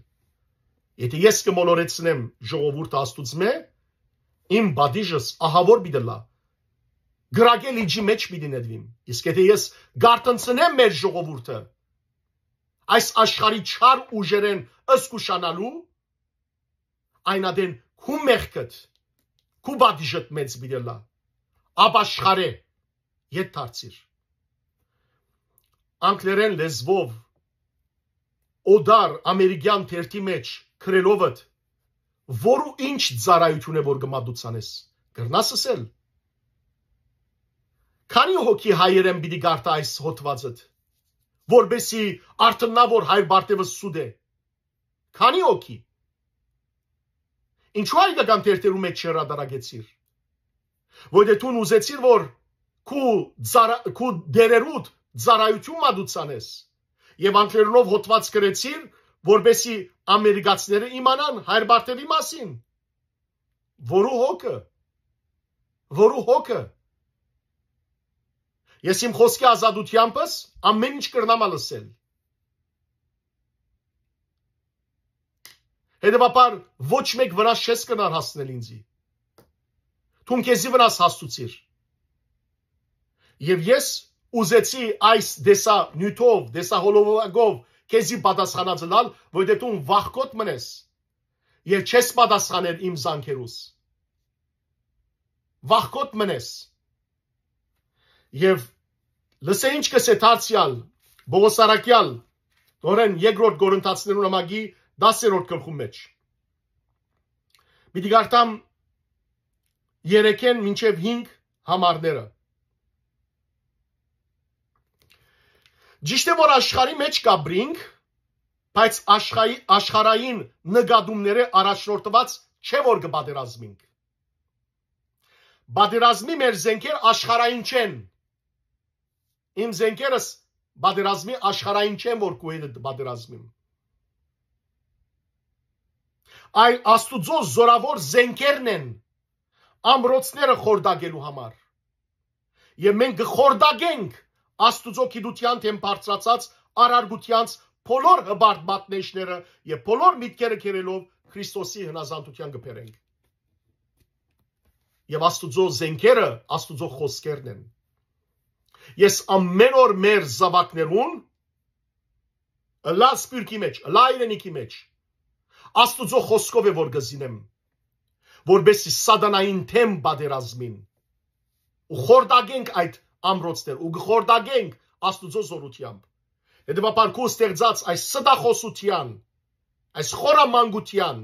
Եթէ ես կը մոլորեցնեմ ժողովուրդը Աստուծմէ, իմ պատիժս ահաւոր պիտի ըլլայ, կրակե լիճի մէջ պիտի նետուիմ։ Իսկ եթէ ես կ'արթնցնեմ մեր ժողովուրդը այս աշխարհի չար ուժերէն զգուշանալու, այն ատեն քու մեղքդ, քու պատիժդ մեծ պիտի ըլլայ, ապաշխարէ, ետ դարձիր։ Անգլերեն լեզուով օտար ամերիկյան թերթի մէջ գրելովդ, որու ինչ ծառայութիւն է որ կը մատուցանես, կրնաս ըսել։ Քանի՞ հոգի հայերէն պիտի կարդայ այս հոդվածդ, որպեսզի արթննայ որ հայր Պարթեւը սուտ է։ Քանի՞ հոգի։ Ինչու հայկական թերթերու մէջ չհրատարակեցիր։ Որովհետեւ դուն ուզեցիր որ քու ծառա-, քու դերերուդ ծառայութիւն մատուցանես, եւ անգլերենով հոդված գրեցիր, որպեսզի ամերիկացիները իմանան հայր Պարթեւի մասին։ Որու՞ հոգը։ Որու՞ հոգը։ Ես իմ խօսքի ազատութեամբս ամէն ինչ կրնամ ալ ըսել։ Հետեւաբար, ոչ մէկ վնաս չես կրնար հասցնել ինձի։ Դուն քեզի վնաս հասցուցիր։ Եւ ես ուզեցի այս տեսանիւթով, տեսահոլովակով քեզի պատասխանած ըլալ, որովհետեւ դուն վախկոտ մնես եւ չես պատասխաներ իմ զանգերուս։ Վախկոտ մնես։ Եւ լսէ ինչ կ'ըսէ դարձեալ Պողոս առաքեալ, նորեն երկրորդ Կորինթացիներուն ամագի տասերորդ գլխուն մէջ։ Պիտի կարդամ երեքէն մինչեւ հինգ համարները։ Ճիշդ է, որ աշխարհի մէջ կ'ապրինք, բայց աշխարհի, աշխարհային նկատումները առաջնորդված չէ, որ կը պատերազմինք։ Պատերազմի մեր զենքեր աշխարհային չեն։ Իմ զենքերս պատերազմի աշխարհային չեն, որ քու հետ պատերազմիմ։ Այլ Աստուծոյ զորաւոր զենքերն են ամրոցները խորտակելու համար։ Եւ մենք կը խորտակենք Աստուծոյ գիտութեան դէմ բարձրացած առարկութեանց բոլոր հպարտ մատնեշները եւ բոլոր միտքերը կերելով Քրիստոսի հնազանդութեան կը բերենք։ Եւ Աստուծոյ զենքերը Աստուծոյ խօսքերն են։ Ես ամէն օր մեր զաւակներուն, ըլլայ սփիւռքի մէջ, ըլլայ հայրենիքի մէջ, Աստուծոյ խօսքով է որ կը զինեմ, որպեսզի սատանային դէմ պատերազմին ու խորտակենք այդ ամրոցներ ու կը խորտակենք Աստուծոյ զօրութեամբ։ Հետեւաբար քու ստեղծած այս ստախոսութեան, այս խորամանկութեան,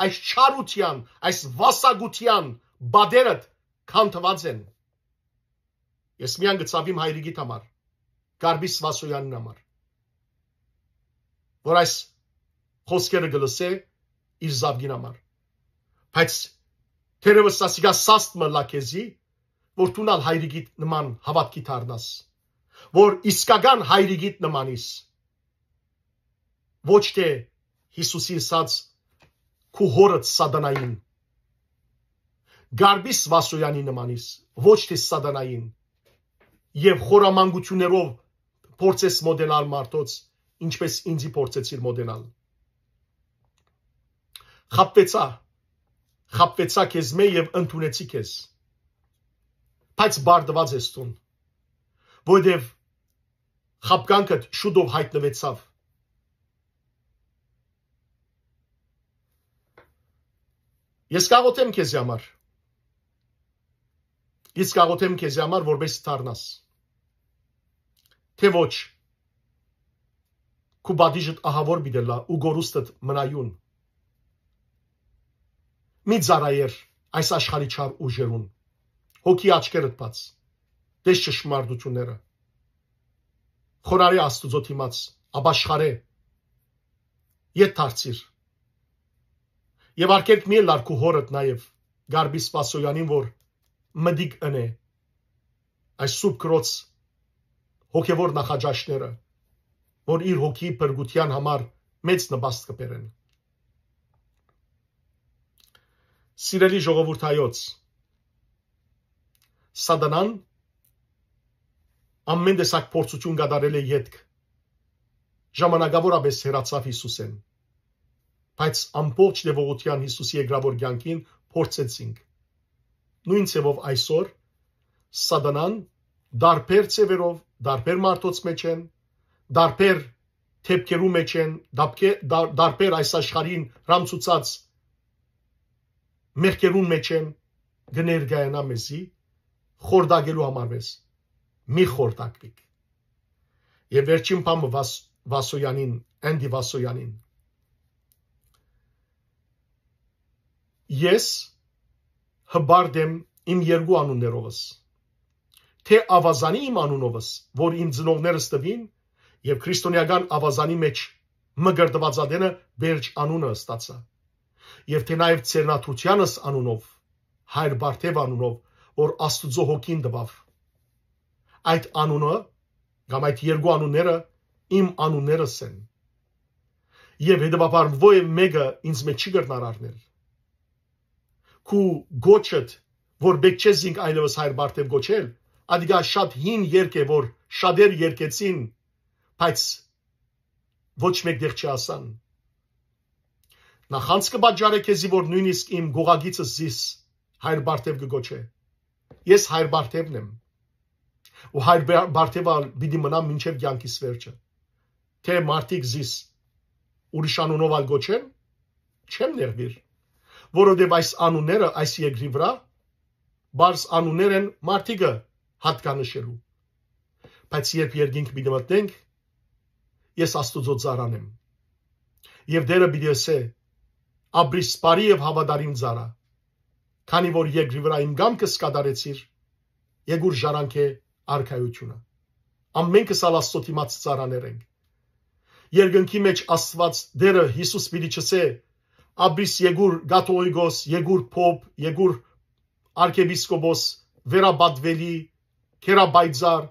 այս չարութեան, այս վասակութեան պատերդ քանդուած են։ Ես միայն կը ցաւիմ հայրիկիդ համար, Գարպիս Վասոյանին համար, որ այս խօսքերը կը լսէ իր զաւկին համար։ Բայց թերեւս ասիկա սաստ մը լա քեզի, որ դուն ալ հայրիկիդ նման հաւատքի դառնաս, որ իսկական հայրիկիդ նմանիս, ոչ թէ Յիսուսի ըսած քու հորդ սատանային, Գարպիս Վասոյանի նմանիս, ոչ թէ սատանային, եւ խորամանկութիւններով փորձես մոտենալ մարդոց, ինչպես ինձի փորձեցիր մոտենալ։ Խաբուեցայ, խաբուեցայ քեզմէ եւ ընդունեցի քեզ, բայց բարդուած ես դուն, որովհետեւ խաբկանքդ շուտով յայտնուեցաւ։ Ես կաղոթեմ քեզի համար։ Ես կաղոթեմ քեզի համար, որպեսզի դառնաս, թէ ոչ, քու պատիժդ ահաւոր պիտի ըլլայ ու կորուստդ մնայուն։ Մի ծառայեր այս աշխարհի չար ուժերուն։ Հոգի աչքերդ բաց, տես ճշմարտութիւնները։ Խոնարհէ Աստուծոյ դիմաց, ապաշխարէ, ետ դարձիր։ Եւ արգելք մի ըլլար քու հորդ նաեւ, Գարպի Սպասոյանին, որ մտիկ ընէ այս Սուրբ Գրոց հոգեւոր նախաճաշները, որ իր հոգի փրկութեան համար մեծ նպաստ կը բերեն։ Սիրելի ժողովուրդ հայոց, Սատանան ամեն տեսակ փորձութիւն կատարել է ետք, ժամանակավորապես հեռացաւ Յիսուսէն, բայց ամբողջ տեւողութեան Յիսուսի երկրաւոր կեանքին փորձեցինք։ Նոյն ձեւով այսօր Սատանան տարբեր ձեւերով, տարբեր մարդոց մէջ են, տարբեր դէպքերու մէջ են, դապկե-, դար-, տարբեր այս աշխարհին հրամցուցած մեղքերուն մէջ են, կը ներկայանայ մեզի խորտակելու համար մեզ։ Մի խորտակուիք։ Եւ վերջին բանը Վաս-, Վասոյանին, Էնտի Վասոյանին։ Ես հպարտ եմ իմ երկու անուններովս, թէ Աւազանի իմ անունովս, որ իմ ծնողներս տուին, եւ քրիստոնեական Աւազանի մէջ մկրտուածատենը Պերճ անունը ստացայ, եւ թէ նաեւ Ձեռնադրութեանս անունով, Հայր Բարթեւ անունով, որ Աստուծոյ հոգին տուաւ։ Այդ անունը կամ այդ երկու անունները իմ անուններս են, եւ հետեւաբար ոեւ մէկը ինձ մէջ չի կրնար առնել։ Քու կոչդ, որ պէտք չէ զինք այլեւս Հայր Բարթեւ կոչել, Ատիկա շատ հին երգ է, որ շատեր երգեցին, բայց ոչ մէկ տեղ չի ասան։ Նախանձ կը պատճառէ քեզի, որ նոյնիսկ իմ գողագիցս զիս Հայր Բարթեւ կը կոչէ։ Ես Հայր Բարթեւն եմ։ Ու Հայր Բա-, Բարթեւը ալ պիտի մնամ մինչեւ կեանքիս վերջը։ Թէ մարդիկ զիս ուրիշ անունով ալ կոչեն, չեմ նեղուիր, որովհետեւ այս անունները այս երկրի վրայ պարզ անուններ են մարդիկը յատկանշելու։ Բայց երբ երկինք պիտի մտնենք, ես Աստուծոյ ծառան եմ։ Եւ Տէրը պիտի ըսէ. «Ապրիս բարի եւ հաւատարիմ ծառայ, քանի որ երկրի վրայ իմ կամքս կատարեցիր, եկուր ժառանգէ արքայութիւնը»։ Ամենքս ալ Աստուծոյ դիմաց ծառաներ ենք։ Երկնքի մէջ Աստուած Տէրը Յիսուս պիտի չըսէ. «Ապրիս եկուր կաթողիկոս, եկուր փոփ, եկուր արքեպիսկոպոս, վերապատուելի, գերապայծառ»,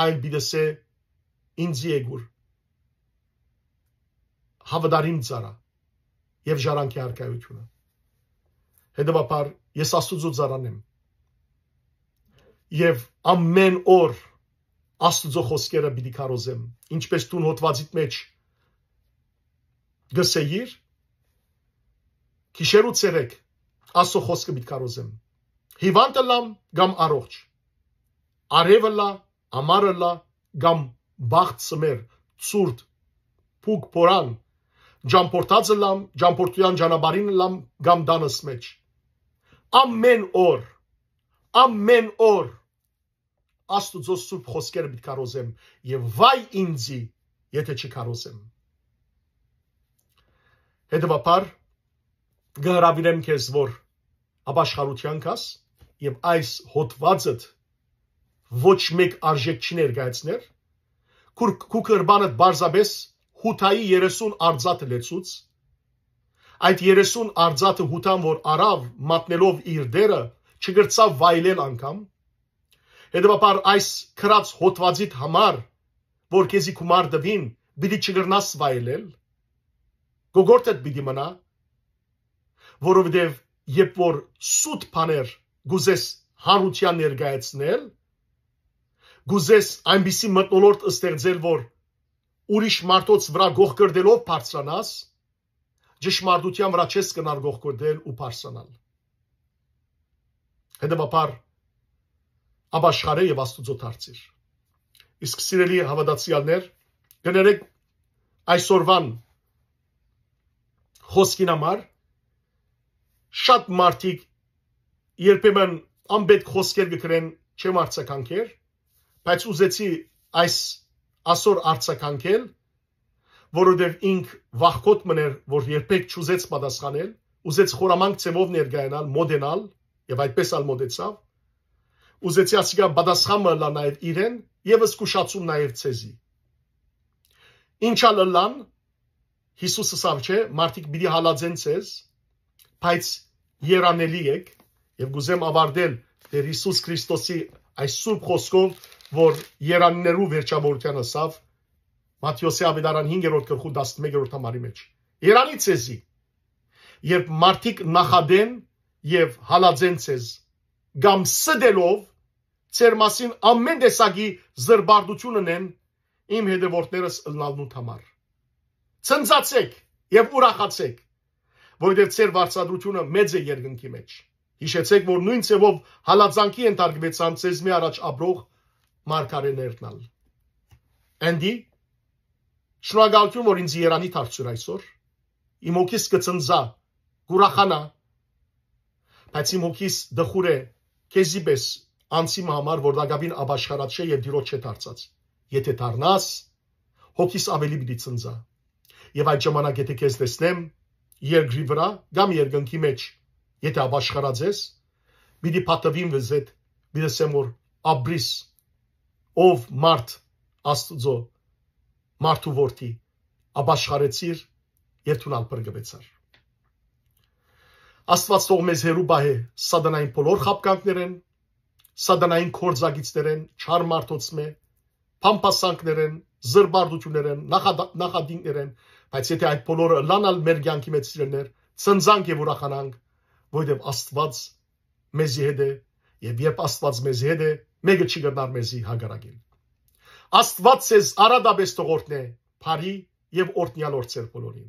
այլ պիտի ըսէ. «Ինձի եկուր, հաւատարիմ ծառայ եւ ժառանգէ արքայութիւնը»։ Հետեւաբար ես Աստուծոյ ծառան եմ եւ ամէն օր Աստուծոյ խօսքերը պիտի քարոզեմ, ինչպէս դուն հոդվածիդ մէջ կ'ըսէիր. «Գիշեր ու ցերեկ Աստուծոյ խօսքը պիտի քարոզեմ, հիւանդ ըլլամ կամ առողջ, արեւ ըլլայ, ամառ ըլլայ կամ բախտ սմեր, ցուրտ, փուք փորան, ճամբորդած ըլլամ, ճամբորդութեան ճանապարհին ըլլամ կամ տանս մէջ»։ Ամէն օր, ամէն օր Աստուծոյ սուրբ խօսքերը պիտի քարոզեմ եւ վայ ինձի, եթէ չքարոզեմ։ Հետեւաբար, կը հրաւիրեմ քեզ, որ ապաշխարութեան գաս եւ այս հոդվածդ ոչ մէկ արժէք չի ներկայացներ, քու, քու կրպանդ պարզապէս Յուդայի երեսուն արծաթը լեցուց, այդ երեսուն արծաթը Յուդան որ առաւ մատնելով իր Տէրը, չկրցաւ վայելել անգամ, հետեւաբար այս գրած հոդվածիդ համար, որ քեզի գումար տուին, պիտի չկրնաս վայելել, գոգորտդ պիտի մնայ, որովհետեւ երբ որ սուտ բաներ կ'ուզես հանրութեան ներկայացնել, կ'ուզես այնպիսի մթնոլորտ ստեղծել, որ ուրիշ մարդոց վրայ գողկրտելով բարձրանաս, ճշմարտութեան վրայ չես կրնար գողկրտել ու բարձրանալ։ Հետեւաբար, ապաշխարէ եւ Աստուծոյ դարձիր։ Իսկ սիրելի հաւատացեալներ, կներեք այսօրվան խօսքին համար, շատ մարդիկ երբեմն անպետք խօսքեր կը գրեն, չեմ արձագանքեր, բայց ուզեցի այս, ասոր արձագանքել, որովհետեւ ինք վախկոտ մըն էր, որ երբեք չուզեց պատասխանել, ուզեց խորամանկ ձեւով ներկայանալ, մոտենալ, եւ այդպես ալ մոտեցաւ, ուզեցի ասիկա պատասխան մը ըլլայ նաեւ իրեն եւ զգուշացում նաեւ ձեզի։ Ինչ ալ ըլլան, Յիսուս ըսաւ չէ, մարդիկ պիտի հալածեն ձեզ, բայց երանելի եք, եւ կուզեմ ավարտել Տէր Յիսուս Քրիստոսի այս սուրբ խօսքով, որ երանիներու վերջավորութեան ըսաւ, Մատթէոսի աւետարան հինգերորդ գլխու տասնմեկերորդ համարի մէջ. «Երանի ձեզի, երբ մարդիկ նախատեն եւ հալածեն ձեզ, կամ ստելով ձեր մասին ամէն տեսակի զրպարտություն ընեն իմ հետեւորդներս ըլլալնուդ համար։ Ցնծացէք եւ ուրախացէք, որովհետեւ ձեր վարձատրութիւնը մեծ է երկնքի մէջ։ Յիշեցէք, որ նոյն ձեւով հալածանքի ենթարկուեցան ձեզմէ առաջ ապրող մարգարէներն ալ»։ Էնտի, շնորհակալութիւն, որ ինձ երանի դարձուր այսօր։ Իմ հոգիս կը ցնծայ, կ'ուրախանայ, բայց իմ հոգիս տխուր է քեզի պէս անձի մը համար, որ տակաւին ապաշխարած չէ եւ Տիրոջ չէ դարձած։ Եթէ դառնաս, հոգիս աւելի պիտի ցնծայ։ Եւ այդ ժամանակ, եթէ քեզ տեսնեմ երկրի վրայ կամ երկնքի մէջ, եթէ ապաշխարած ես, պիտի պատվիմ վեզետ, պիտի ասեմ, որ ապրիս, ով մարդ Աստուծոյ, մարդու որդի, ապաշխարեցիր եւ դուն ալ փրկուեցար։ Աստուած թող մեզ հեռու պահէ սատանային բոլոր խաբկանքներէն, սատանային գործակիցներէն, չար մարդոց մէ, բամբասանքներէն, զրպարտություններէն, նախադա-, նախատինքներէն, բայց եթէ այդ բոլորը ըլլան ալ մեր կեանքի մեջ, սիրելիներ, ցնծանք եւ ուրախանանք, որովհետեւ Աստուած մեզի հետ է, եւ երբ Աստուած մեզի հետ է, Մէկը չի կրնար մեզի հակառակել։ Աստուած ձեզ առատապէս թող օրհնէ, բարի եւ օրհնեալ օրցեր բոլորին։